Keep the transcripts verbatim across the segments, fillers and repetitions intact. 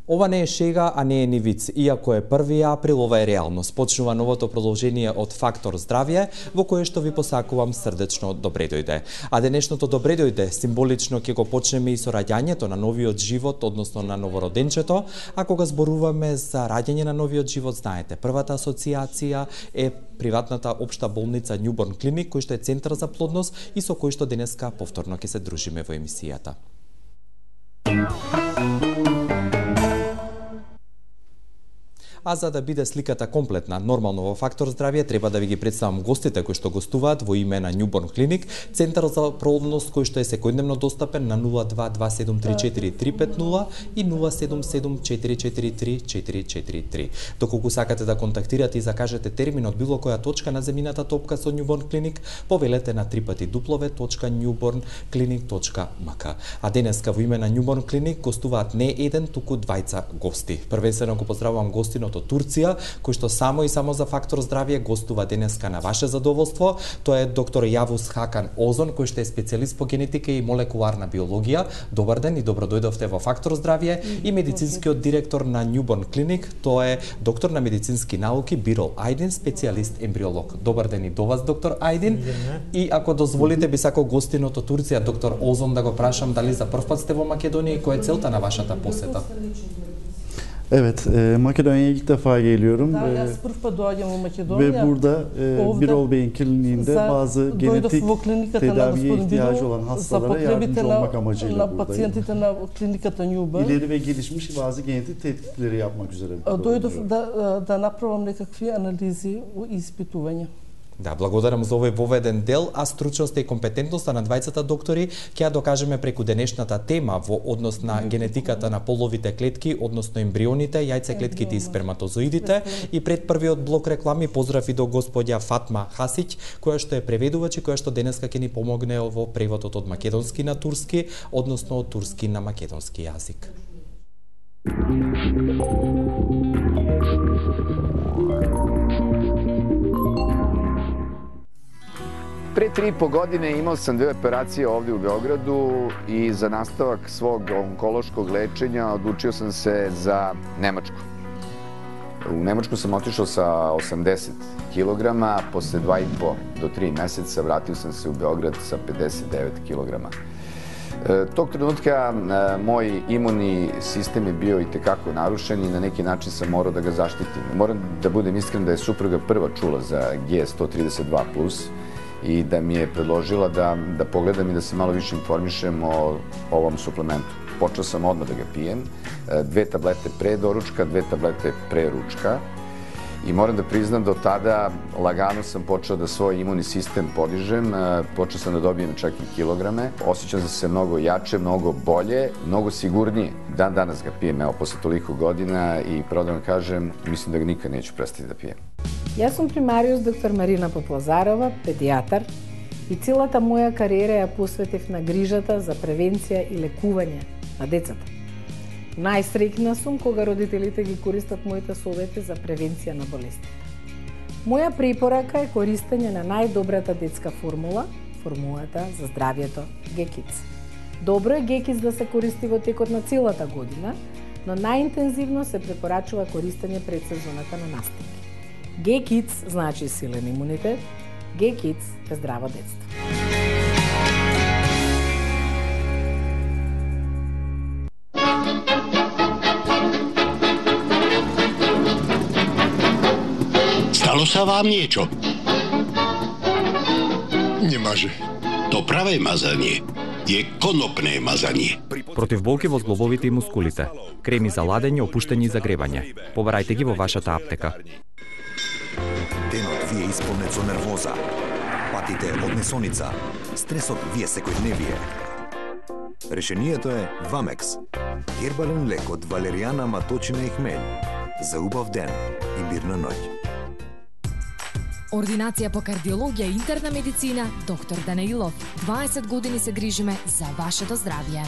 Ова не е шега, а не е ни виц. Иако е први април, ова е реалност. Почнува новото продолжение од Фактор здравје, во кое што ви посакувам срдечно добре дојде. А денешното добре дојде символично ќе го почнеме и со раѓањето на новиот живот, односно на новороденчето. А кога зборуваме за раѓање на новиот живот, знаете, првата асоциација е приватната општа болница Newborn Clinic, кој што е центар за плодност и со кој што денеска повторно ќе се дружиме во емисијата. А за да биде сликата комплетна, нормално во Фактор здравје, треба да ви ги представам гостите кои што гостуваат во име на Newborn Clinic, центар за плодност кој што е секојдневно достапен на нула два два седум три четири три пет нула и нула седум седум четири четири три четири четири три. Доколку сакате да контактирате и закажете термин од било која точка на земјината топка со Newborn Clinic, повелете на три пати дуплове точка newborn clinic точка m k. А денеска во име на Newborn Clinic гостуваат не еден, туку двајца гости. Првенствено го поздравувам гостино од Турција, кој што само и само за Фактор здравје гостува денеска на ваше задоволство. Тоа е доктор Јавус Хакан Озон, кој што е специјалист по генетика и молекуларна биологија. Добар ден и добро дојдовте во Фактор здравје. И медицинскиот директор на Newborn Clinic, тоа е доктор на медицински науки Бирол Ајдин, специјалист ембриолог. Добар ден и до вас, доктор Ајдин. И ако дозволите, би сакал гостинот од Турција, доктор Озон, да го прашам дали за прв пат сте во Македонија и која е целта на вашата посета? Evet, e, Makedonya'ya ilk defa geliyorum. Daha E, Yaspırf'a doğacağım Makedonya. Ve burada e, Birol Bey'in kliniğinde bazı genetik tedaviye ihtiyacı olan hastalara yardımcı olmak amacıyla buradayım. Pacijentите на клиниката Newborn. İleri ve gelişmiş bazı genetik tetkikleri yapmak üzere burada Дојдов да да направам некакви анализи и испитувања. Да, благодарам за овој воведен дел, а стручноста и компетентноста на двајцата доктори ќе ја докажеме преку денешната тема во однос на генетиката на половите клетки, односно ембрионите, јајцеклетките и сперматозоидите. И пред првиот блок реклами поздрав и до господја Фатма Хасиќ, која што е преведувач и која што денеска ќе ни помогне во преводот од македонски на турски, односно од турски на македонски јазик. Pre tri i po godine imao sam dve operacije ovdje u Beogradu i za nastavak svog onkološkog lečenja odlučio sam se za Nemačku. U Nemačku sam otišao sa osamdeset kilograma, posle dva i po do tri meseca vratio sam se u Beograd sa pedeset devet kilograma. Tog trenutka moj imunni sistem je bio i tekako narušen i na neki način sam morao da ga zaštitim. Moram da budem iskren da je supruga prva čula za G sto trideset dva plus i da mi je predložila da, da pogledam i da se malo više informišem o ovom suplementu. Počeo sam odmah da ga pijem, dve tablete pre doručka, dve tablete pre ručka i moram da priznam da od tada lagano sam počeo da svoj imunni sistem podižem, počeo sam da dobijem čak i kilograme, osjećam se mnogo jače, mnogo bolje, mnogo sigurnije. Dan danas ga pijem, evo, posle toliko godina i pravo da vam kažem, mislim da ga nikad neću prestati da pijem. Јас сум примариус доктор Марина Попозарова, педијатар, и целата моја кариера ја посветив на грижата за превенција и лекување на децата. Најсреќна сум кога родителите ги користат моите совети за превенција на болести. Моја препорака е користење на најдобрата детска формула, формулата за здравјето G Kids. Добро е G Kids да се користи во текот на целата година, но најинтензивно се препорачува користење пред сезоната на настипи. G Kids значи силен имунитет, G Kids е здраво детство. Stalo sa vám niečo? Немаже. To pravé mazanie je konopné mazanie. Против болки во зглобовите и мускулите. Креми за ладење, опуштење и загревање. Побарајте ги во вашата аптека. Денот ви е исполнет со нервоза. Патите од несоница. Стресот ви е секојдневие. Решението е Вамекс. Гербален лек од валеријана, маточина и хмелј. За убав ден и мирна ноќ. Ординација по кардиологија и интерна медицина, доктор Данаилов. дваесет години се грижиме за вашето здравје.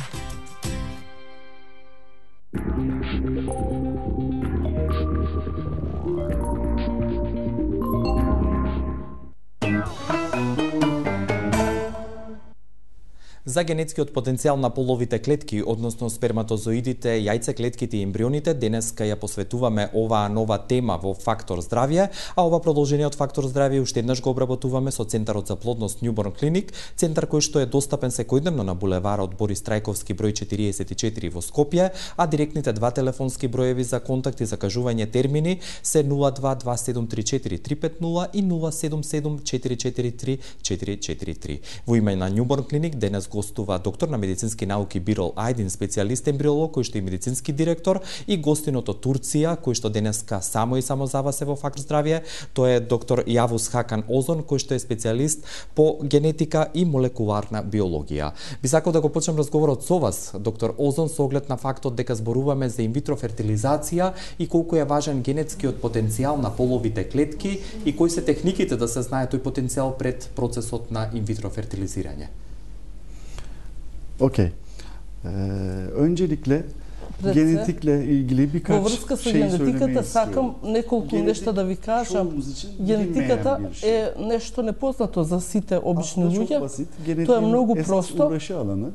За генетскиот потенцијал на половите клетки, односно сперматозоидите, јајцеклетките и ембрионите, денеска ја посветуваме оваа нова тема во Фактор здравје, а ова продолжение од Фактор здравје уште еднаш го обработуваме со Центарот за плодност Newborn Clinic, центар кој што е достапен секојдневно на булеварот Борис Трајковски број четириесет и четири во Скопје, а директните два телефонски броеви за контакт и закажување термини се нула два два седум три четири три пет нула и нула седум седум четири четири три четири четири три. Во име на Newborn Clinic денес гостува доктор на медицински науки Бирол Ајдин, специјалист ембриолог кој што е медицински директор, и гостинот од Турција кој што денеска само и само за вас е во Фактор здравје, тоа е доктор Јавус Хакан Озон кој што е специјалист по генетика и молекуларна биологија. Би сакал да го почнем разговорот со вас, доктор Озон, со оглед на фактот дека зборуваме за инвитро фертилизација и колку е важен генетскиот потенцијал на половите клетки и кои се техниките да се знае тој потенцијал пред процесот на инвитро фертилизирање. Okey. Ee, öncelikle Пред genetikle ilgili Во birkaç врска со şey söylemeyi генетиката istiyorum. сакам неколку Генетик нешта да ви кажам. çoğumuz için Генетиката bilinmeyen bir şey. е нешто непознато за сите обични Aslında çok луѓе. basit. Тоа е Genetiğin многу esas просто. uğraşı alanı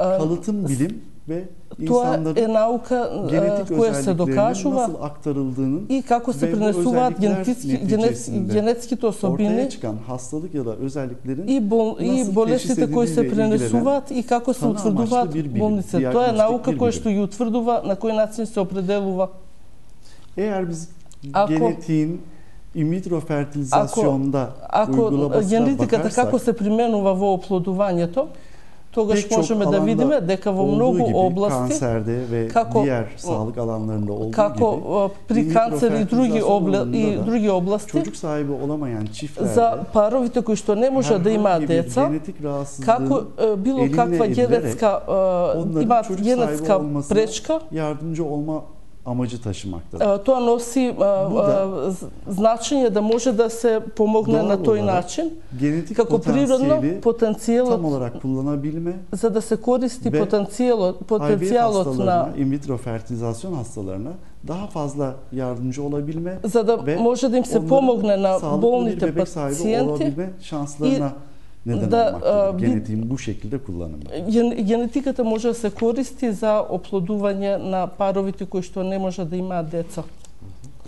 А, kalıtım bilim ve Тоа е insanların наука genetik која се özelliklerinin докажува nasıl aktarıldığının и како се ve bu пренесуваат özellikler генетички neticesinde генетските особини ortaya çıkan hastalık ya da özelliklerin и бол и nasıl болестите teşhis кои се edildiğiyle пренесуваат и како се tanı утврдуваат amaçlı bir bilim, болниците. Тоа е diagnostik наука bir која bilim. што ја утврдува на кој начин се определува. Eğer biz Ако- genetiğin in vitro fertilizasyonda Ако uygulamasına генетиката bakarsak како се применува во оплодувањето, тогаш pek çok можеме да alanda видиме дека во olduğu многу gibi области, kanserde ve kako- diğer sağlık alanlarında olduğu како gibi а, при in vitro канцер и други fertilizasyon обла... и alanında da други области, çocuk sahibi olamayan çiftlerde за паровите кои што не може да имаат herhangi bir деца, genetik како rahatsızlığın е, било eline каква edilerek генетска а, onların имаат çocuk sahibi генетска olmasına пречка, yardımcı olma amacı taşımaktadır. а, тоа носи а, а, з- значење да може да се помогне Doğal на тој olarak начин, genetik како природно potansiyeli tam потенцијалот olarak kullanabilme за да се користи Ve потенцијалот I V F потенцијалот на hastalarına, in vitro fertilizasyon hastalarına daha fazla yardımcı olabilme за да ve може да им се onların помогне на sağlıklı bir болните bebek sahibi пациенти. olabilme şanslarına neden da, olmaktadır. a, bir- Genetiğin bu şekilde kullanımı. Ген- Генетиката може да се користи за оплодување на паровите кои што не може да имаат деца.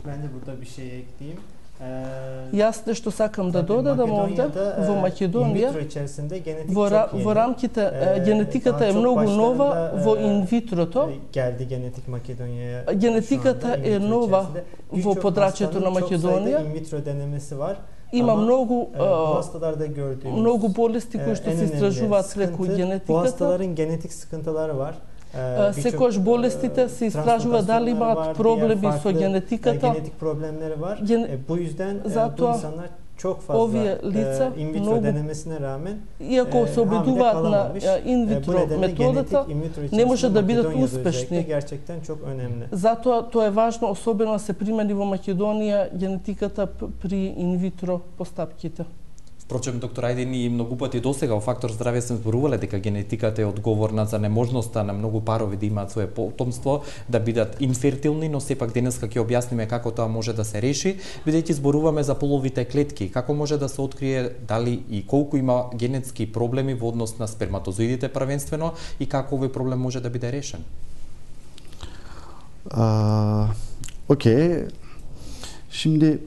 Ben de burada bir şey ekleyeyim. Ee, Јас нешто сакам да tabii додадам овде, Makedonya'da, во e, in Македонија, vitro içerisinde genetik во, ра- çok yeni. во рамките, Е, е, генетиката daha е çok многу нова başlarında, во e, инвитрото. e, Geldi genetik Makedonya'ya. Генетиката şu anda in е vitro нова içerisinde. во Birçok подрачјето на hastanın çok sayıda Македонија. in vitro denemesi var. Има Ama, многу e, bu а, hastalarda gördüğümüz многу болести e, кои што en се önemli истражуваат преку sıkıntı, bu генетиката. hastaların genetik sıkıntıları var. Е, Е, Секогаш болестите се истражува дали имаат проблеми со генетиката. Genetik problemleri var. Gen- E, bu yüzden e, bu Затоа insanlar çok fazla овие лица e, in vitro многу- denemesine rağmen Иако e, се hamile обидуваат на kalamamış. е, E, bu инвитро nedenle методата, genetik in vitro не içerisinde може да бидат Makedonya'da успешни. özellikle gerçekten çok önemli. Затоа тоа е важно, особено да се примени во Македонија генетиката п- при инвитро постапките. Впрочем, доктор Ајдин, и многу пати досега во Фактор здравје сме зборувале дека генетиката е одговорна за неможноста на многу парови да имаат свое потомство, да бидат инфертилни, но сепак денеска ќе објасниме како тоа може да се реши, бидејќи зборуваме за половите клетки, како може да се открие дали и колку има генетски проблеми во однос на сперматозоидите првенствено и како овој проблем може да биде решен. Aa, Okey. Şimdi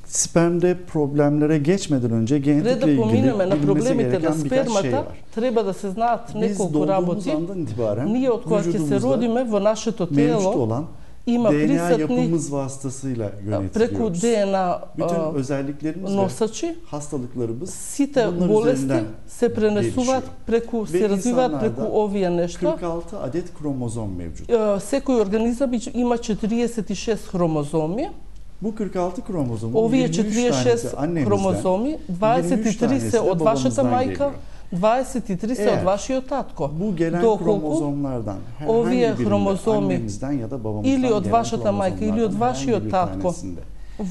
spermde problemlere geçmeden önce Пред genetikle да ilgili поминеме на bilinmesi проблемите на gereken birkaç şey спермата, var. треба да се знаат Biz неколку doğduğumuz работи. andan itibaren Ние од кога ќе се vücudumuzda родиме во нашето mevcut тело olan има D N A присутни yapımız vasıtasıyla преку yönetiliyoruz. Д Н А Bütün а, özelliklerimiz ve носачи, hastalıklarımız сите bunlar болести üzerinden се пренесуваат gelişiyor. преку, Ve се развиваат преку insanlarda овие нешта. kırk altı adet kromozom mevcut. Е, Секој организам има четириесет и шест хромозоми. Bu kırk altı kromozomun Овие yirmi üç четириесет и шест tanesi annemizden, хромозоми, дваесет и yirmi üç три tanesi се de од вашата babamızdan мајка, geliyor. дваесет и три се Eğer од вашиот татко. Bu gelen Доколку kromozomlardan ovие herhangi birinde хромозоми annemizden ya da babamızdan или од gelen вашата мајка или од kromozomlardan вашиот herhangi bir татко tanesinde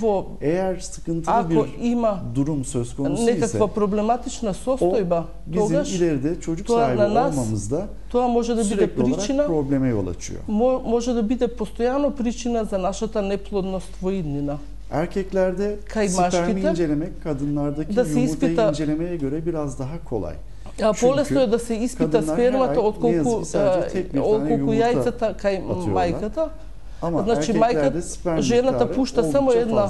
во eğer sıkıntılı ако bir има durum söz konusu ise некаква проблематична состојба, bizim тогаш ileride çocuk тоа sahibi на нас olmamızda тоа може да биде sürekli olarak причина, probleme yol açıyor. мо- може да биде постојано причина за нашата неплодност во иднина. Erkeklerde Kay spermi maşkite incelemek kadınlardaki da se yumurtayı ispita- incelemeye göre biraz daha kolay. Полесно е да се испита спермата отколку отколку јајцата кај мајката. Значи мајката, жената пушта само една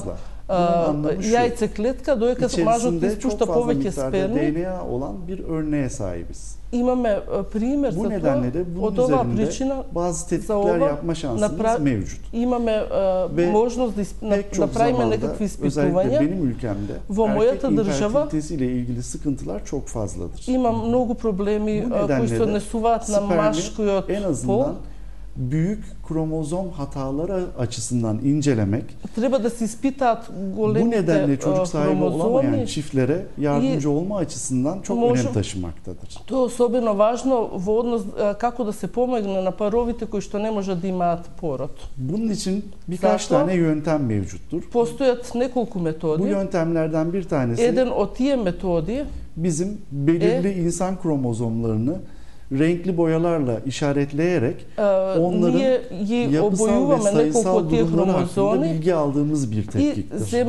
јајце клетка, додека мажот испушта повеќе сперми. D N A olan bir örneğe sahibiz. Имаме пример Bu за nedenle de тоа. bunun Од оваа üzerinde причина bazı tetkikler yapma şansımız напра... mevcut. Имаме можност да исп... направиме некакви испитувања. Benim ülkemde во мојата држава ile ilgili sıkıntılar çok fazladır. Има многу проблеми кои се однесуваат на машкиот пол. Büyük kromozom hataları açısından incelemek, треба да се испитаат големите bu nedenle çocuk sahibi olamayan хромозоми çiftlere yardımcı olma açısından çok Можем... önem taşımaktadır. Тоа е особено важно во однос како да се помогне на паровите кои што не можат да имаат пород. Bunun için birkaç Zato, tane yöntem mevcuttur. Постојат неколку методи. Bu yöntemlerden bir tanesi Еден од тие методи bizim belirli e, insan kromozomlarını renkli boyalarla işaretleyerek onların yapısal ve sayısal durumları hakkında bilgi aldığımız bir tetkiktir.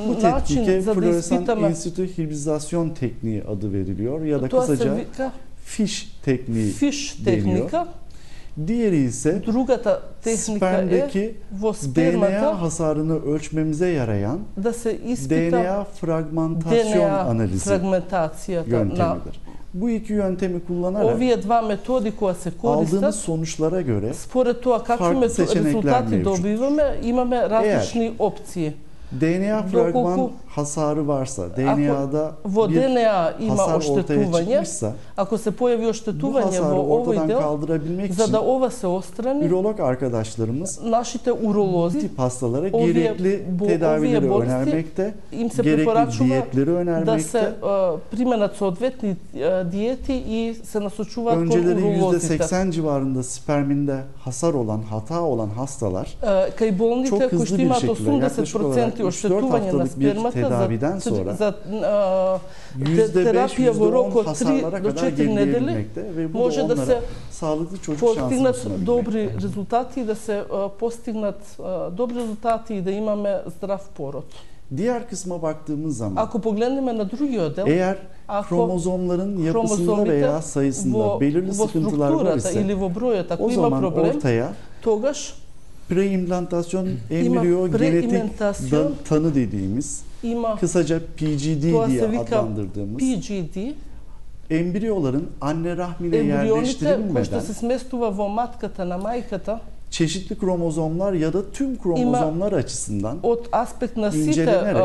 Bu tetkike floresan institü hibrizasyon tekniği adı veriliyor ya da kısaca fiş tekniği deniyor. Diğeri ise spermdeki D N A hasarını ölçmemize yarayan D N A fragmentasyon analizi yöntemidir. Bu iki yöntemi kullanarak aldığımız sonuçlara göre farklı seçenekler mevcut. Eğer D N A fragman hasarı varsa, D N A'da bir hasar ortaya çıkmışsa, ако се појави оштетување во овој дел, за да ова се острани, ürolog arkadaşlarımız нашите уролози bu tip hastalara gerekli tedavileri önermekte, gerekli diyetleri önermekte. Да се применат соодветни диети и се насочуваат кон Önceleri уролозите. yüzde seksen civarında sperminde hasar olan, hata olan hastalar кај болните кои што имаат осумдесет проценти оштетување на tedaviden sonra за yüzde beş, терапија во рок од три hasarlara до kadar четири недели gerileyebilmekte ve bu може da да onlara се sağlıklı çocuk şansı постигнат sunabilmekte. добри резултати, да се постигнат добри резултати и да имаме здрав пород. Diğer kısma baktığımız zaman Ако погледнеме на другиот дел, eğer kromozomların yapısında veya sayısında belirli sıkıntılar var ise или во бројот, ако o има zaman проблем, ortaya тогаш preimplantasyon embriyo genetik tanı dediğimiz, kısaca P G D diye adlandırdığımız P G D, embriyoların anne rahmine yerleştirilmeden çeşitli kromozomlar ya da tüm kromozomlar açısından incelenerek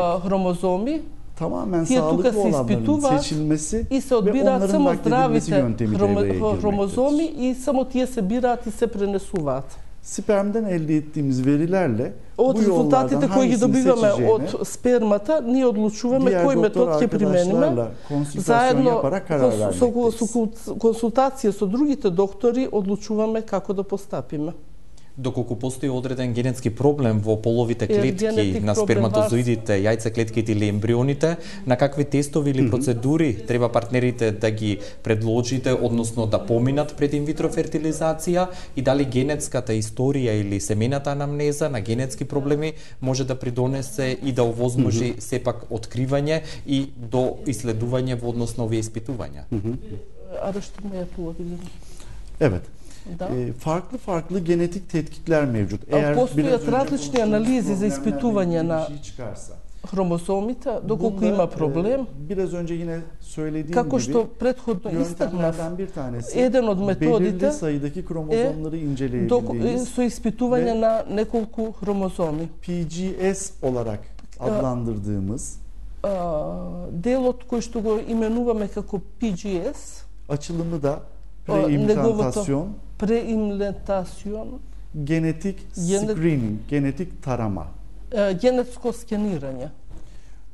tamamen sağlıklı olanların seçilmesi ve onların nakledilmesi yöntemi devreye girmektedir. Spermden elde ettiğimiz verilerle од резултатите кои ги добиваме од спермата, ние одлучуваме кој метод ќе примениме, заедно со консултација со другите доктори одлучуваме како да постапиме. Доколку постои одреден генетски проблем во половите клетки на сперматозоидите, јајцеклетките или ембрионите, на какви тестови или процедури треба партнерите да ги предложите, односно да поминат пред инвитро фертилизација, и дали генетската историја или семената анамнеза на генетски проблеми може да придонесе и да овозможи сепак откривање и до исследување во однос на овие испитувања? Evet. E, farklı farklı genetik tetkikler mevcut. Eğer постојат различни анализи за испитување на хромозомите, доколку има проблем. Biraz önce yine söylediğim како што gibi претходно истакнав, bir tanesi еден од методите belirli sayıdaki kromozomları inceleyebildiğimiz со испитување на неколку хромозоми. P G S olarak adlandırdığımız делот кој што го именуваме како P G S, açılımı da preimplantasyon, преимплантацион, genetik screening, genetik tarama. Генетско скенирање.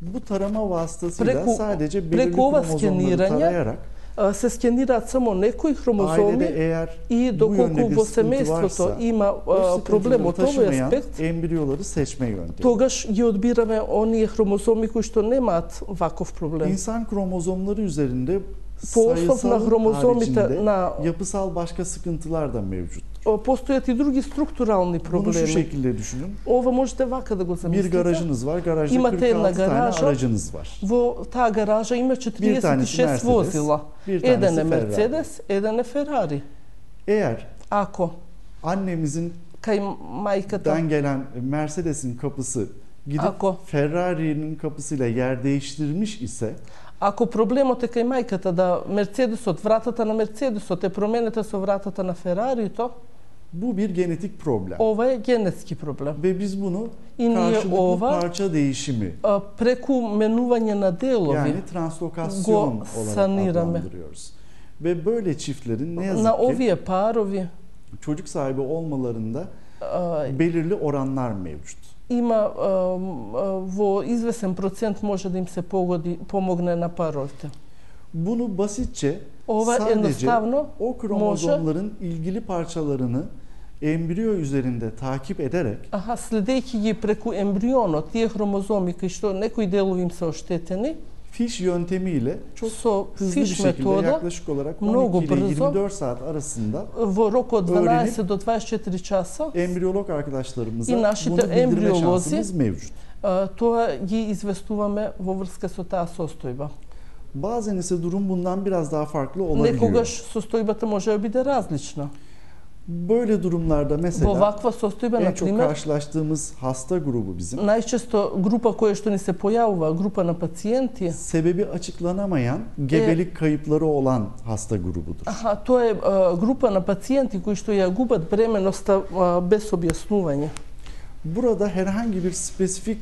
Bu tarama vasıtasıyla sadece belirli преку ова kromozomları tarayarak се скенираат само некои хромозоми и доколку во семејството има проблем од овој аспект, embriyoları seçme yöntemi. Тогаш ги одбираме оние хромозоми кои што немаат ваков проблем. İnsan kromozomları üzerinde по основ на хромозомите на yapısal başka sıkıntılar da mevcuttur. Постојат и други структурални проблеми. Bunu şu şekilde düşünün. Ова можете вака да го замислите. Bir garajınız var. Garajda Имате kırk една altı tane гаража. aracınız var. Во таа гаража има четириесет и шест возила. Еден е Мерцедес, еден е Ферари. Eğer Ако annemizin кај мајката gelen Mercedes'in kapısı gidip Ако Ferrari'nin kapısıyla yer değiştirmiş ise, ако проблемот е кај мајката да Мерцедесот, вратата на Мерцедесот е променета со вратата на Ферарито, bu bir genetik problem. Ова е генетски проблем. Ve biz bunu И ние karşılıklı ова parça değişimi, преку менување на делови yani translokasyon olarak adlandırıyoruz. Ve böyle çiftlerin ne yazık на ki овие парови çocuk sahibi olmalarında belirli oranlar mevcut. Има во извесен процент може да им се погоди, помогне на паровите. Bunu basitçe Ова sadece едноставно o kromozomların ilgili parçalarını embriyo üzerinde takip ederek, аха, следејќи ги преку ембрионот, тие хромозоми кои што некои делови им се оштетени, fiş yöntemiyle çok со hızlı bir фиш şekilde метода, yaklaşık olarak многу on iki ile брзо, yirmi dört saat arasında во рок од дванаесет до дваесет и четири часа, embriyolog arkadaşlarımıza и bunu нашите bildirme ембриолози şansımız mevcut. тоа ги известуваме во врска со таа состојба. Bazen ise durum bundan biraz daha farklı olabiliyor. Некогаш состојбата може да биде различна. Böyle durumlarda Во mesela ваква состојба, en на çok пример, karşılaştığımız hasta grubu bizim најчесто група која што ни се појавува, група на пациенти, sebebi açıklanamayan gebelik kayıpları olan hasta grubudur. аха, тоа е а, група на пациенти кои што ја губат бременоста а, без објаснување. Burada herhangi bir spesifik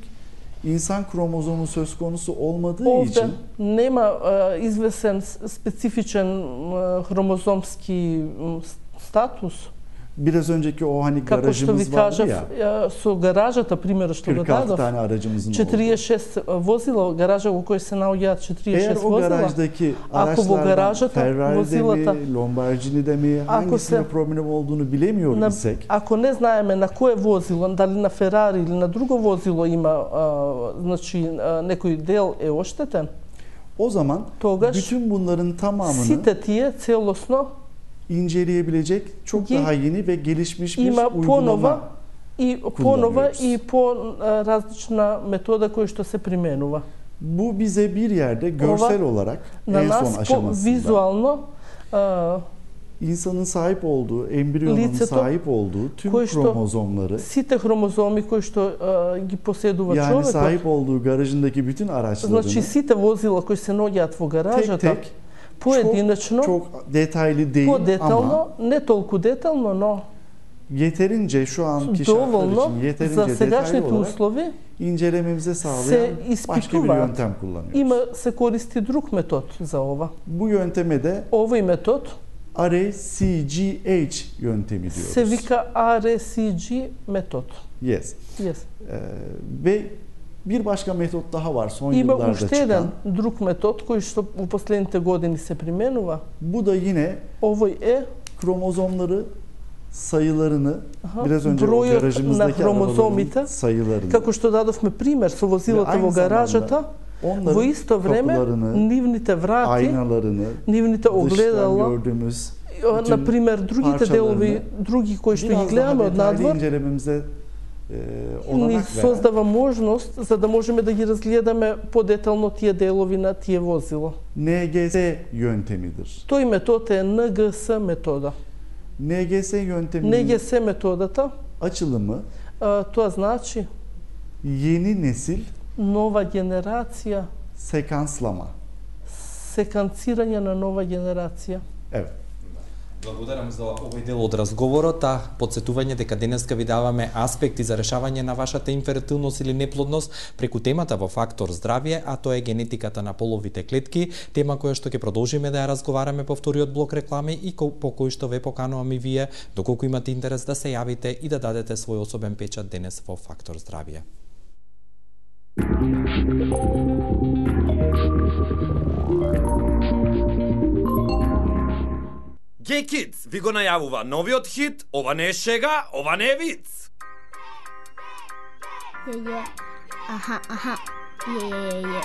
insan kromozomu söz konusu olmadığı Овде için нема а, извесен специфичен а, хромозомски м, статус. Biraz önceki o hani Како што ви garajımız vardı кажав, ya, ја, со гаражата, примерот што го kırk altı дадов, tane aracımızın olduğu. четириесет и шест возила, гаража во кој се наоѓаат четириесет и Eğer шест o возила. garajdaki Ако во araçlardan гаражата, Ferrari'de возилата, mi, Lamborghini'de mi, hangisinde се- problem olduğunu bilemiyor на, isek, ако не знаеме на кое возило, дали на Ферари или на друго возило има а, значи а, некој дел е оштетен, o zaman тогаш bütün bunların tamamını сите тие целосно inceleyebilecek çok Ги daha yeni ve gelişmiş bir има uygulama. понова и понова kullanıyoruz. и по а, различна метода која што се применува. Bu bize bir yerde görsel olarak На en son нас по aşamasında визуално а, insanın sahip olduğu, embriyonun Лицето, sahip olduğu tüm кој што kromozomları, сите хромозоми кои што а, ги поседува yani човекот, sahip olduğu garajındaki bütün araçlarını значи сите возила кои се наоѓаат во tek гаражата, tek поединечно, çok, çok detaylı değil по-детално, ama не толку детално, но yeterince şu anki şartlar доволно için за yeterince detaylı сегашните olarak услови incelememize sağlayan се başka bir испитуваат. yöntem kullanıyoruz. Има се користи друг метод за ова. Bu yönteme de Овој метод R A C G H yöntemi diyoruz. се вика R C G метод. Yes. Yes. Ee, ve bir başka metot daha var son Има yıllarda уште çıkan. еден друг метод кој што во последните години се применува. Bu da yine Овој е kromozomları sayılarını Aha, biraz önce o бројот на garajımızdaki хромозомите, arabaların sayılarını како што дадовме пример со возилата Ve во aynı гаражата, zamanda onların во исто време kapılarını, нивните врати, aynalarını, нивните dıştan огледала, gördüğümüz на пример другите parçalarını делови, други кои што ги biraz daha гледаме од detaylı надвор, incelememize e, ни olanak veren создава можност за да можеме да ги разгледаме подетално тие делови на тие возила. N G S yöntemidir. Тој метод е Н Г С метода. N G S yönteminin Н Г С методата, açılımı а, тоа значи yeni nesil нова генерација, sekanslama. секанцирање на нова генерација. Evet. Благодарам за овој дел од разговорот, а подсетување дека денеска ви даваме аспекти за решавање на вашата инфертилност или неплодност преку темата во Фактор здравје, а тоа е генетиката на половите клетки, тема која што ќе продолжиме да ја разговараме по вториот блок реклами и по кој што ве покануваме вие, доколку имате интерес да се јавите и да дадете свој особен печат денес во Фактор здравје. Gay Kids ви го најавува новиот хит, ова не е шега, ова не е виц. Е, е, аха, аха, е, е, е.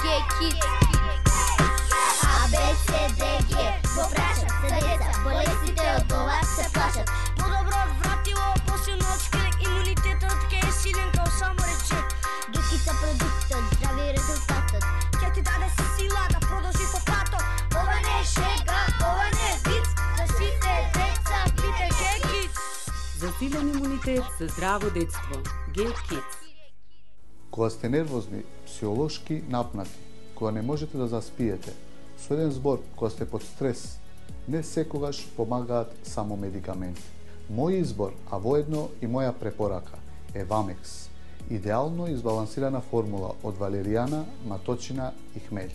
Gay Kids. А, Б, С, Д, Г, во прашат се деца, Силен имунитет за здраво детство. G-Kids. Кога сте нервозни, психолошки напнати, кога не можете да заспиете, со еден збор, кога сте под стрес, не секогаш помагаат само медикаменти. Мој избор, а воедно и моја препорака, е Вамекс. Идеално избалансирана формула од валеријана, маточина и хмелј.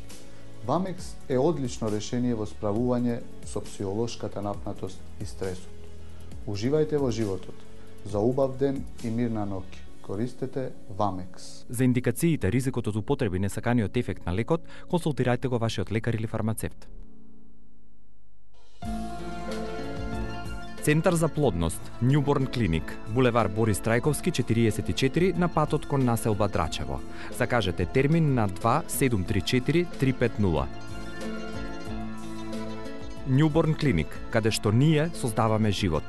Вамекс е одлично решение во справување со психолошката напнатост и стресот. Уживајте во животот. За убав ден и мирна ноќ. Користете Вамекс. За индикациите, ризикот од употреби несаканиот ефект на лекот, консултирајте го вашиот лекар или фармацевт. Центар за плодност, Newborn Clinic, булевар Борис Трајковски четириесет и четири на патот кон населба Драчево. Закажете термин на два седум три четири три пет нула. Newborn Clinic, каде што ние создаваме живот.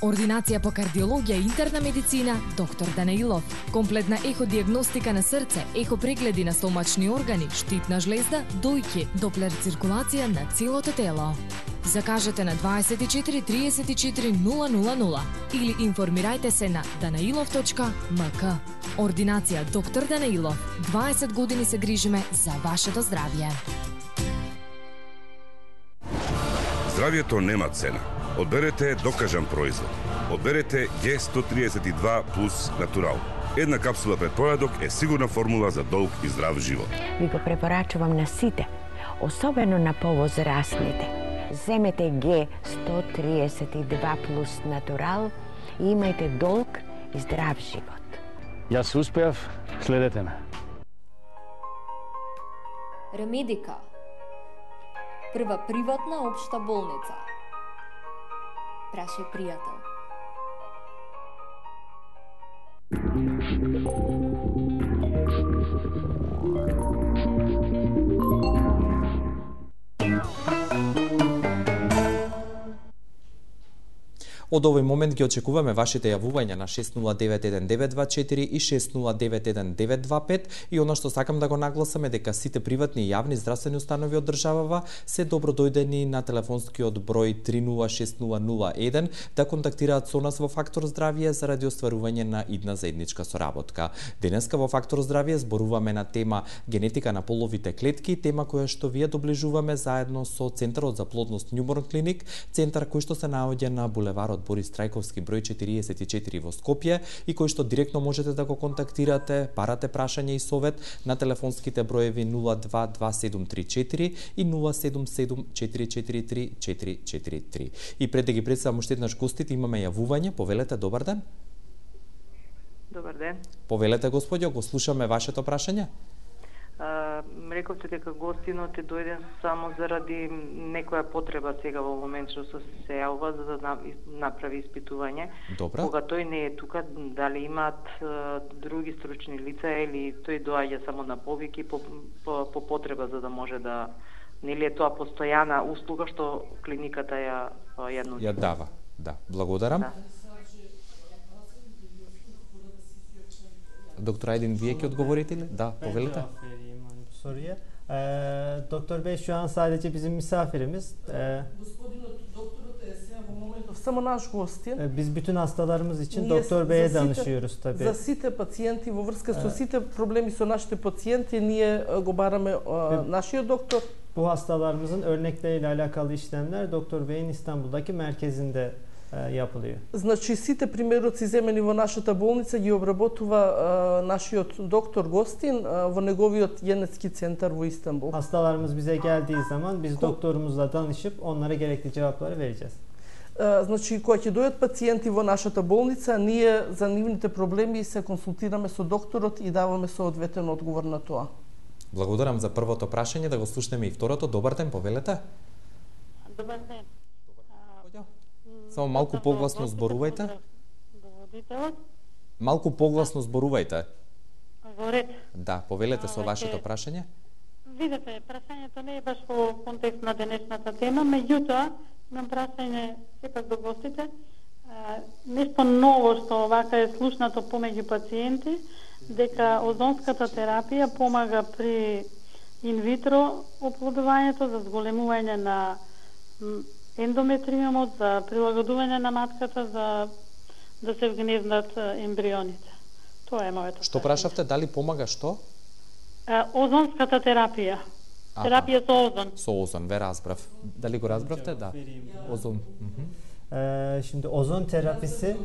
Ординација по кардиологија и интерна медицина, доктор Данаилов. Комплетна еходиагностика на срце, ехопрегледи на стомачни органи, штитна жлезда, дојки, доплер циркулација на целото тело. Закажете на дваесет и четири триесет и четири нула нула нула или информирајте се на данаилов точка ем ка. Ординација доктор Данаилов. дваесет години се грижиме за вашето здравје. Здравјето нема цена. Одберете докажан производ. Одберете Г сто триесет и два плюс Натурал. Една капсула пред појадок е сигурна формула за долг и здрав живот. Ви го препорачувам на сите, особено на повозрастните. Земете Г сто триесет и два плюс Натурал и имајте долг и здрав живот. Јас успеав, следете ме. Ремедика. Прва приватна општа болница. Прашај пријател. Од овој момент ги очекуваме вашите јавувања на шест нула девет еден девет два четири и шест нула девет еден девет два пет и она што сакам да го нагласам е дека сите приватни и јавни здравствени установи од државава се добродојдени на телефонскиот број три нула шест нула нула еден да контактираат со нас во Фактор здравје заради остварување на идна заедничка соработка. Денеска во Фактор здравје зборуваме на тема генетика на половите клетки, тема која што вие доближуваме заедно со Центарот за плодност Newborn Clinic, центар кој што се наоѓа на булеварот Борис Трајковски број четириесет и четири во Скопје и кој што директно можете да го контактирате, барате прашање и совет на телефонските броеви нула два два седум три четири и нула седум седум четири четири три четири четири три. И пред да ги представам уште еднаш гостите, имаме јавување. Повелете, добар ден. Добар ден. Повелете, господјо, го слушаме вашето прашање. Рековте дека гостинот е дојден само заради некоја потреба сега во момент што се јавува за да направи испитување. Добра. Кога тој не е тука, дали имаат други стручни лица или тој доаѓа само на повики по, по, по потреба за да може да, нели е тоа постојана услуга што клиниката ја ја нуди? Ја дава. Да, благодарам. Да. Доктор Айдин, вие ќе одговорите ли? Да, повелите. Soruya. Ee, Doktor Bey şu an sadece bizim misafirimiz. Ee, Само наш гостин. Biz bütün hastalarımız için Doktor Bey'e danışıyoruz tabii. За сите пациенти во врска со сите проблеми со нашите пациенти ние го бараме нашиот доктор. Bu hastalarımızın örnekleriyle alakalı işlemler Doktor Bey'in İstanbul'daki merkezinde yapılıyor. Значи сите примероци земени во нашата болница ги обработува а, нашиот доктор Гостин а, во неговиот генетски центар во Истанбул. Hastalarımız bize geldiği zaman biz doktorumuzla danışıp onlara gerekli cevapları vereceğiz. А, значи кога ќе дојдат пациенти во нашата болница, ние за нивните проблеми се консултираме со докторот и даваме соодветен одговор на тоа. Благодарам за првото прашање, да го слушнеме и второто. Добар ден, повелете. Добар ден. Само малку погласно зборувајте. Малку погласно зборувајте. Во ред. Да, повелете со вашето прашање. Видете, прашањето не е баш во контекст на денешната тема, меѓутоа имам прашање сепак до гостите. Нешто ново што вака е слушнато помеѓу пациенти, дека озонската терапија помага при инвитро оплодувањето, за зголемување на ендометриумот, за прилагодување на матката, за да се вгнездат ембрионите. Тоа е моето. Што прашавте, дали помага што? Озонската терапија. Аха. Терапија со озон. Со озон, ве разбрав. Дали го разбравте? Да. Ozon. Ee, şimdi ozon terapisi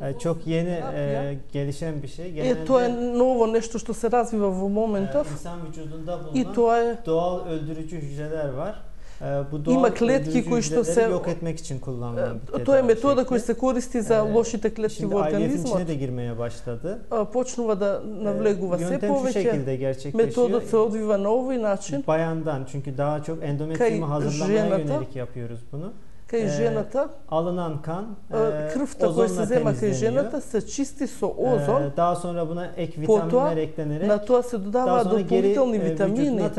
e, çok yeni e, gelişen bir şey. Genelde, e, to je novo nešto što se razviva во моментов. E, insan vücudunda bulunan I to je, doğal öldürücü hücreler var. E, bu doğal ima kletki koji što se yok etmek için kullanılan bir to je metoda koja se koristi za e, lošite kletki u organizmu. Şimdi I V F'in içine de girmeye başladı. Почнува да навлегува се повеќе. Методот се одвива на овој начин. Bayandan, çünkü daha çok endometriumu hazırlamaya yönelik yapıyoruz bunu. Кај жената, alınan kan крвта која се зема кај жената се чисти со озон. Daha sonra buna ek vitaminler eklenerek на тоа се додаваат дополнителни витамини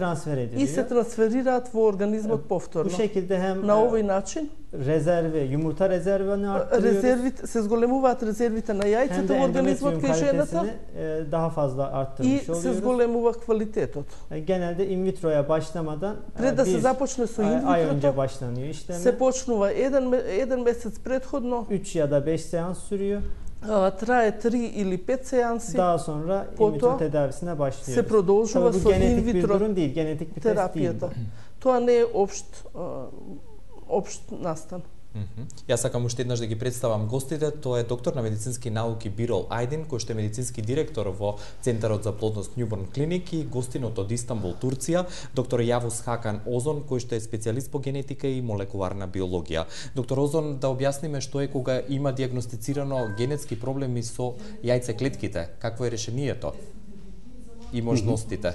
и се трансферираат во организмот повторно. Bu şekilde hem на овој начин rezervi, yumurta rezervini arttırıyoruz. Резервите се зголемуваат резервите на јајцата во организмот кај жената. Daha fazla arttırmış oluyoruz. И се зголемува квалитетот. Genelde in vitroya başlamadan пред да се започне со in ay önce başlanıyor işlemi. Се почнува еден еден месец претходно. üç ya da beş seans sürüyor. Трае три или пет сеанси. Daha sonra in vitro tedavisine başlıyoruz. Се продолжува со in vitro bir durum değil, genetik bir test değil. Тоа не е општ општ настан. Јас сакам уште еднаш да ги представам гостите. Тоа е доктор на медицински науки Бирол Айдин, кој што е медицински директор во Центарот за плодност Newborn Clinic, и гостинот од Истанбул, Турција, доктор Јавус Хакан Озон, кој што е специјалист по генетика и молекуларна биологија. Доктор Озон, да објасниме што е кога има диагностицирано генетски проблеми со јајцеклетките, какво е решението и можностите?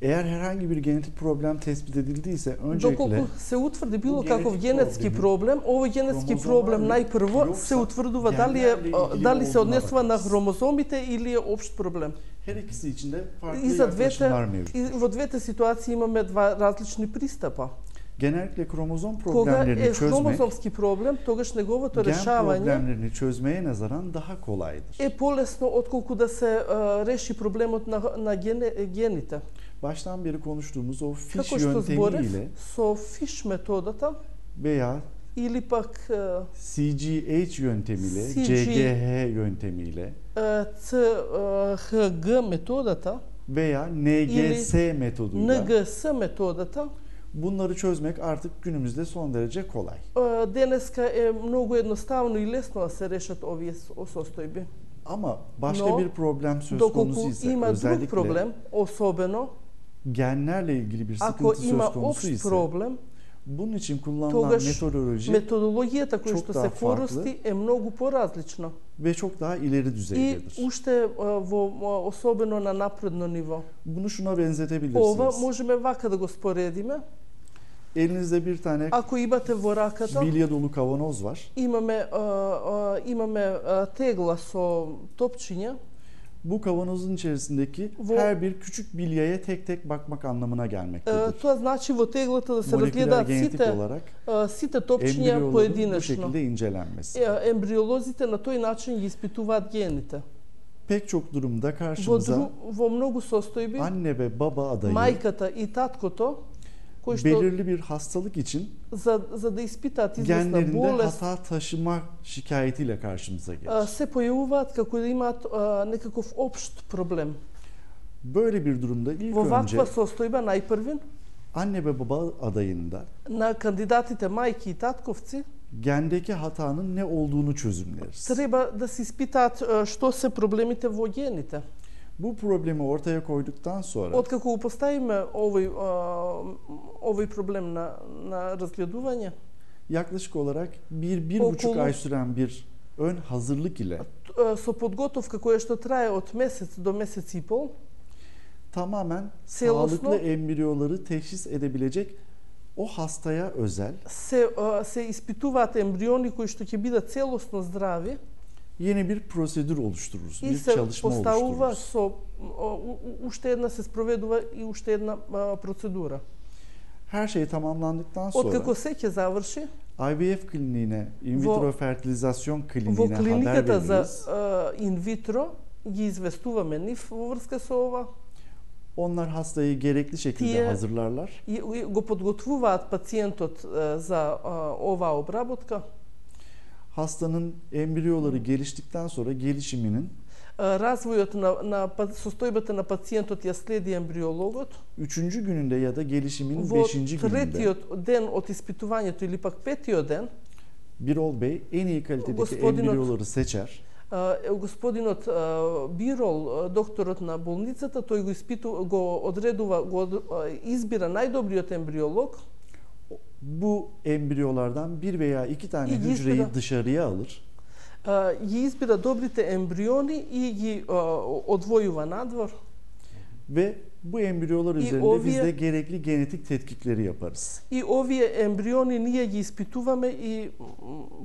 Eğer herhangi bir genetik problem tespit edildiyse öncelikle доколку се утврди било каков генетски проблем, овој генетски проблем најпрво се утврдува дали е дали се однесува на хромозомите или е општ проблем. Her ikisi için de farklı и за двете mevcut. и во двете ситуации имаме два различни пристапа. Genellikle kromozom Кога problemlerini е çözmek, хромозомски проблем, тогаш неговото gen решавање problemlerini çözmeye nazaran daha kolaydır. е полесно отколку да се uh, реши проблемот на, на гене, гените. Baştan beri konuştuğumuz o fiş Како што yöntemiyle зборев, со фиш методата veya или пак uh, C G H yöntemiyle, C G C G H yöntemiyle uh, C H G методата veya N G S metoduyla N G S методата bunları çözmek artık günümüzde son derece kolay. Uh, денеска е многу едноставно и лесно да се решат овие состојби. Ama başka Но, bir problem söz доколку konusu ise има друг özellikle проблем, особено genlerle ilgili bir ако sıkıntı има söz konusu општ ise проблем, bunun için kullanılan тогаш metodoloji методологијата која çok што daha се farklı користи е многу поразлична ve çok daha ileri и düzeydedir. уште во особено на напредно ниво. Bunu şuna Ова benzetebilirsiniz. можеме вака да го споредиме. Elinizde bir tane Ако имате во раката, bilye dolu kavanoz var. имаме а, а, имаме а, тегла со топчиња. Bu kavanozun içerisindeki Во- her bir küçük bilyeye tek tek bakmak anlamına gelmektedir. А, Тоа значи во теглата да се Moleküler разгледаат genetik сите olarak а, сите топчиња embriyoların bu поединечно. şekilde incelenmesi. Е, Ембриолозите на тој начин ги испитуваат гените. Pek çok durumda Во, karşımıza дру, во многу состојби, anne ve baba adayı мајката и таткото, кои што belirli bir hastalık için за, за да испитаат известна genlerinde болест, hata taşıma şikayetiyle karşımıza gelir. а, се појавуваат како да имаат а, некаков општ проблем. Böyle bir durumda ilk Во önce ваква состојба најпрвин anne ve baba adayında на кандидатите мајки и татковци gendeki hatanın ne olduğunu çözümleriz. треба да се испитаат а, што се проблемите во гените. Bu problemi ortaya koyduktan sonra Откако го поставиме овој а, овој проблем на на разгледување, yaklaşık olarak bir, bir buçuk Okulu- ay süren bir ön hazırlık ile а, со подготовка која што трае од месец до месец и пол, tamamen Celosno- sağlıklı embriyoları teşhis edebilecek o hastaya özel се а, се испитуваат ембриони кои што ќе бидат целосно здрави yeni bir prosedür oluştururuz. и Bir се çalışma поставува oluştururuz. со а, у- у- уште една се спроведува и уште една а, процедура. Her şey tamamlandıktan sonra Откако се ќе заврши, I V F kliniğine, in Во- vitro fertilizasyon во kliniğine haber клиниката за veririz. а, инвитро ги известуваме нив во врска со ова. Onlar hastayı gerekli şekilde Тие hazırlarlar. и го подготвуваат пациентот е, за е, оваа обработка. Hastanın embriyoları geliştikten sonra gelişiminin Развојот на, на состојбата на пациентот ја следи ембриологот. Üçüncü gününde ya da gelişimin Во beşinci gününde третиот ден од испитувањето или пак петиот ден Birol Bey en iyi kalitedeki embriyoları seçer. Господинот Бирол, докторот на болницата, тој го испиту, го одредува, го избира најдобриот ембриолог. Bu embriyolardan bir veya iki tane hücreyi dışarıya alır. Ги избира добрите ембриони и ги одвојува надвор. Ve bu embriyolar üzerinde ovие, biz de gerekli genetik tetkikleri yaparız. И овие ембриони ние ги испитуваме и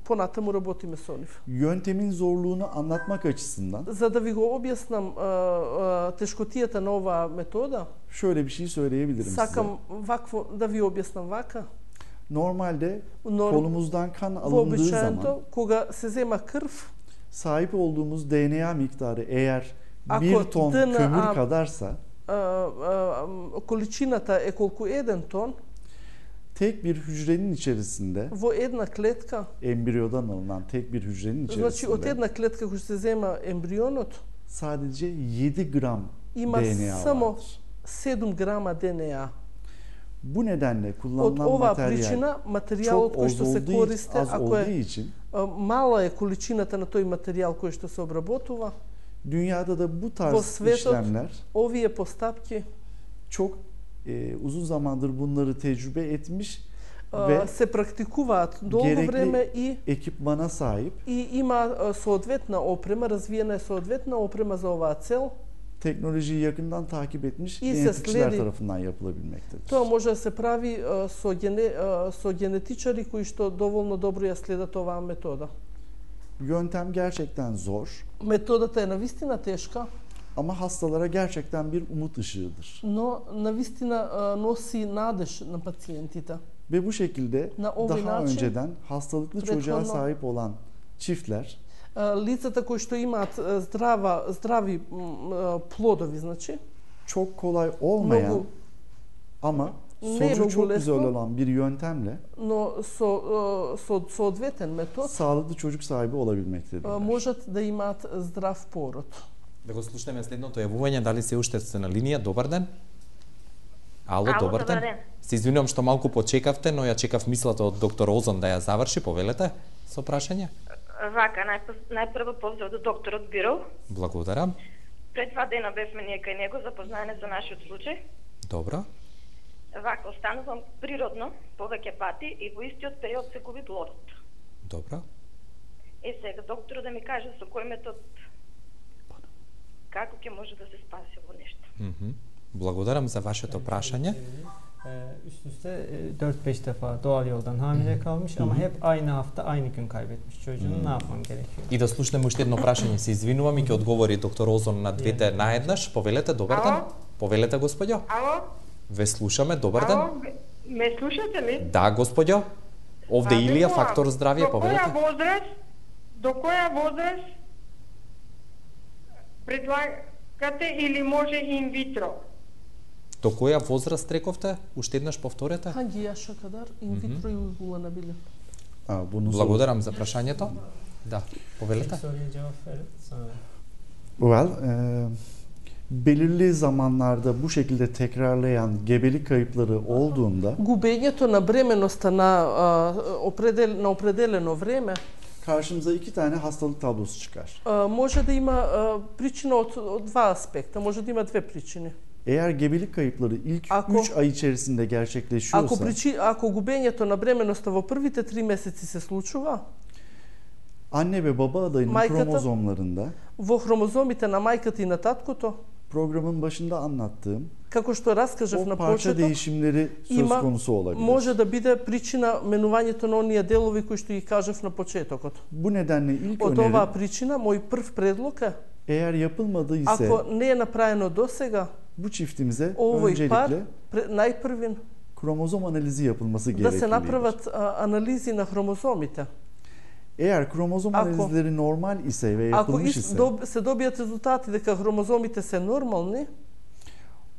понатаму работиме со нив. Yöntemin zorluğunu anlatmak açısından За да ви го објаснам тешкотијата на оваа метода, şöyle bir şey söyleyebilirim сакам size. вакво да ви објаснам вака. Normalde Norm, kolumuzdan kan alındığı zaman кога се зема крв, sahip olduğumuz D N A miktarı eğer Ако bir ton ДНА, kömür kadarsa количината е колку еден тон, tek bir hücrenin içerisinde во една клетка, embriyodan alınan tek bir hücrenin içerisinde значи од една клетка која се зема ембрионот, sadece yedi gram има D N A само vardır. седум грама Д Н А. Bu nedenle kullanılan Од оваа materyal причина материјалот кој што се користи, ако е için, мала е количината на тој материјал кој што се обработува, dünyada da bu во tarz светот işlemler овие постапки çok e, uzun zamandır bunları tecrübe etmiş uh, ve се практикуваат долго време и ekipmana sahip. И има соодветна опрема, развиена е соодветна опрема за оваа цел. Teknolojiyi yakından takip etmiş И genetikçiler tarafından yapılabilmektedir. Тоа може да се прави со, гене, со генетичари кои што доволно добро ја следат оваа метода. Yöntem gerçekten zor. Методата е навистина тешка. Ama hastalara gerçekten bir umut ışığıdır. Но навистина носи надеж на пациентите. Ve bu şekilde daha начин, önceden hastalıklı çocuğa sahip olan çiftler лицата кои што имаат здрава здрави плодови, значи çok kolay olmayan много, ama sonucu çok güzel olan bir yöntemle но со со соодветен метод sağlıklı çocuk sahibi olabilmektedirler. Можат да имаат здрав пород. Да го слушнеме следното јавување, дали се уште сте на линија? Добар ден. Ало, Ало, добар ден. ден. Се извинувам што малку почекавте, но ја чекав мислата од доктор Озон да ја заврши, повелете со прашање. Вака, најпрво поздрав до докторот Бирол. Благодарам. Пред два дена бевме ние кај него запознаене за нашиот случај. Добро. Вака, останувам природно повеќе пати и во истиот период се губи плодот. Добро. Е, сега докторот да ми каже со кој метод како ќе може да се спаси ово нешто. Mm -hmm. Благодарам за вашето прашање. Üst üste dört beş defa doğal yoldan hamile kalmış ama hep aynı hafta aynı gün kaybetmiş çocuğunu. Ne yapmam gerekiyor? И да слушнеме уште едно прашање, се извинувам и ќе одговори доктор Озон на двете наеднаш. Повелете, добар ден. Повелете, господјо. Ало? Ве слушаме, добар ден. Ало? Ме слушате ли? Да, господјо. Овде Илија, фактор здравје, повелете. До која возраст? До која возраст предлагате или може инвитро? До која возраст рековте? Уште еднаш повторете. Hangi yaşa kadar in vitro uygulanabilir? Благодарам за прашањето. Да, повелете. Well, e, belirli zamanlarda bu şekilde tekrarlayan gebelik kayıpları olduğunda губењето на бременоста на определ на определено време karşımıza iki tane hastalık tablosu çıkar. Може да има причина од, од два аспекта, може да има две причини. Eğer gebelik kayıpları ilk üç ay içerisinde gerçekleşiyorsa, ако причи, ако губењето на бременоста во првите три месеци се случува, anne ve baba adayının мајката, kromozomlarında во хромозомите на мајката и на таткото, programın başında anlattığım како што раскажав на parça почеток, değişimleri söz има, konusu olabilir. може да биде причина менувањето на оние делови кои што ги кажав на почетокот. Bu nedenle ilk Од önerim, оваа причина, мој прв предлог е, eğer yapılmadıysa, ако не е направено досега, bu çiftimize овој пар, öncelikle најпрвин, kromozom analizi yapılması да се gereklidir. направат анализи на хромозомите. Eğer kromozom Ако- analizleri normal ise ve Ако yapılmış ис- ise, доб- се добијат резултати дека хромозомите се нормални,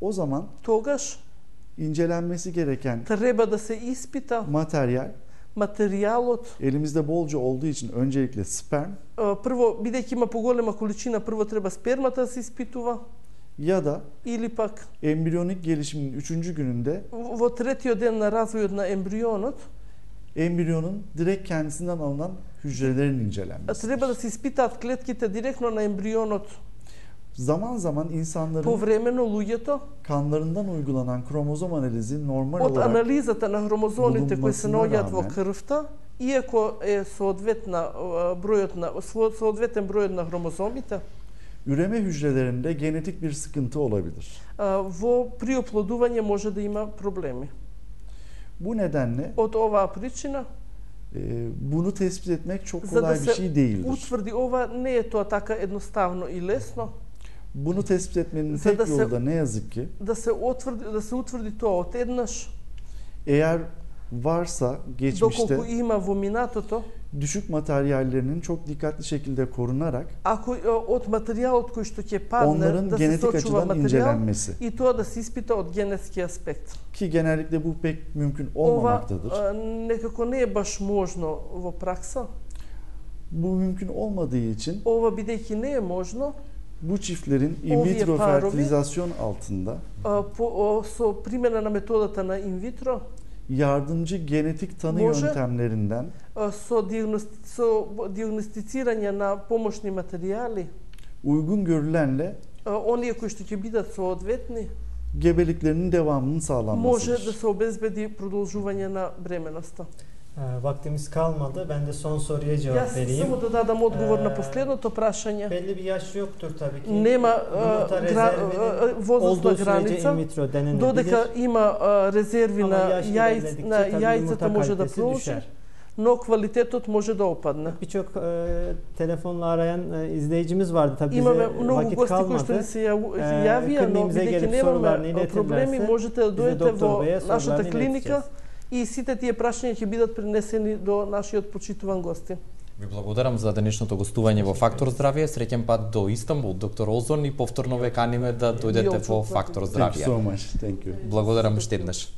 O zaman тогаш incelenmesi gereken треба да се испита materyal материјалот. Elimizde bolca olduğu için öncelikle sperm. Прво, бидејќи има поголема количина, прво треба спермата да се испитува. Ya da или пак embriyonik gelişimin üçüncü gününde во третиот ден на развојот на ембрионот embriyonun direkt kendisinden alınan hücrelerin incelenmesi. Треба да се испитаат клетките директно на ембрионот. Zaman zaman insanların Повремено луѓето kanlarından uygulanan kromozom analizi normal од olarak анализата на хромозомите кои се наоѓаат во rağmen, крвта, иако е соодветна бројот на соодветен бројот на хромозомите, üreme hücrelerinde genetik bir sıkıntı olabilir. Во при оплодување може да има проблеми. Bu nedenle од оваа причина e, bunu tespit etmek çok за да kolay bir şey се değildir. утврди ова не е тоа така едноставно и лесно. Bunu tespit etmenin За tek да се yolu da ne yazık ki да се утврди да се утврди тоа одеднаш. Eğer varsa geçmişte Доколку има во минатото, düşük materyallerinin çok dikkatli şekilde korunarak ако од материјалот кој што ќе падне onların да се genetik сочува açıdan материјал incelenmesi. и тоа да се испита од генетски аспект. Ki genellikle bu pek mümkün Ова olmamaktadır. а, некако не е баш можно во пракса. Bu mümkün olmadığı için Ова бидејќи не е можно, bu çiftlerin in Ovие vitro parovi- fertilizasyon altında а, по, о, со примена на методата на инвитро, yardımcı genetik tanı Može. yöntemlerinden а, со, диагности, со диагностицирање на помошни материјали, uygun görülenle а, оние кои што ќе бидат соодветни, gebeliklerinin devamının може sağlanmasıdır. да се обезбеди продолжување на бременоста. Ee, Vaktimiz kalmadı. Ben de son soruya cevap Јас vereyim. само да дадам одговор на Ee, последното прашање. Belli bir yaş yoktur tabii ki. Нема Yumurta гра, rezervinin возрастна olduğu sürece in граница, vitro denenebilir. додека има а, резерви Ama на yaş јајц, ilerledikçe на tabii јајцата yumurta може да kalitesi продолжи, düşer. но квалитетот може да опадне. Birçok e, telefonla arayan e, izleyicimiz vardı tabii bize Имаме многу vakit гости кои што kalmadı. ни се јав- Ee, јавија, но kliniğimize бидејќи gelip немаме sorularını проблеми, iletirlerse можете да biz de дојдете doktor во Bey'e нашата sorularını клиника ileteceğiz. и сите тие прашања ќе бидат пренесени до нашиот почитуван гости. Ви благодарам за денешното гостување во Фактор здравје. Среќен пат до Истанбул, доктор Озон, и повторно ве каниме да дојдете во Фактор Thank you здравје. so much. Thank you. Благодарам уште еднаш.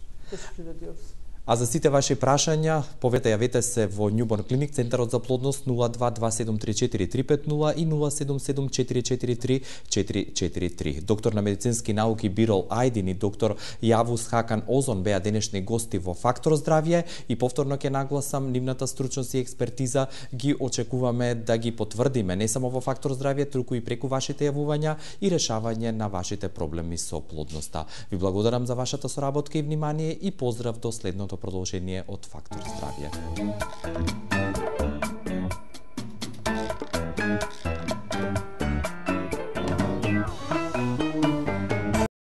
А за сите ваши прашања, повете јавете се во Newborn Clinic, Центарот за плодност нула два два седум три четири три пет нула и нула седум седум четири четири три четири четири три. Доктор на медицински науки Бирол Ајдин и доктор Јавус Хакан Озон беа денешни гости во Фактор здравје и повторно ќе нагласам нивната стручност и експертиза ги очекуваме да ги потврдиме не само во Фактор здравје, туку и преку вашите јавувања и решавање на вашите проблеми со плодноста. Ви благодарам за вашата соработка и внимание и поздрав до следното продолжение од Фактор здравје.